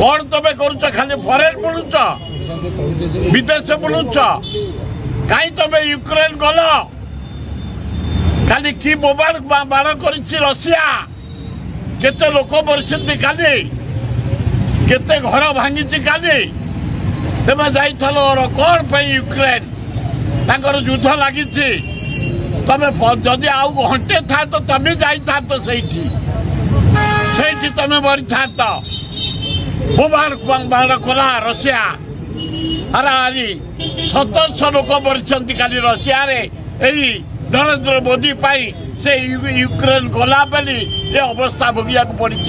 କ'ଣ ତମେ କରୁଛ? ଖାଲି ଫରେନ୍ ବୁଲୁଛ, ବିଦେଶ ବୁଲୁଛ। କାହିଁ ତମେ ୟୁକ୍ରେନ ଗଲ? କାଲି କି ବୋମାଡ଼ ମାଡ଼ କରିଛି ରଷିଆ, କେତେ ଲୋକ ମରିଛନ୍ତି କାଲି, କେତେ ଘର ଭାଙ୍ଗିଛି କାଲି। ତେମେ ଯାଇଥିଲ କ'ଣ ପାଇଁ ୟୁକ୍ରେନ? ତାଙ୍କର ଯୁଦ୍ଧ ଲାଗିଛି। ତମେ ଯଦି ଆଉ ଘଣ୍ଟେ ଥାନ୍ତ, ତମେ ଯାଇଥାନ୍ତ ସେଇଠି, ସେଇଠି ତମେ ମରିଥାନ୍ତ। ବୋମାଡ଼ ମାଡ଼ କଲା ରଷିଆ। ହାରାହାରି 1700 ଲୋକ ମରିଛନ୍ତି କାଲି ରଷିଆରେ। ଏଇ ନରେନ୍ଦ୍ର ମୋଦି ପାଇଁ ସେ ୟୁକ୍ରେନ ଗଲା ବୋଲି ଏ ଅବସ୍ଥା ଭୋଗିବାକୁ ପଡ଼ିଛି।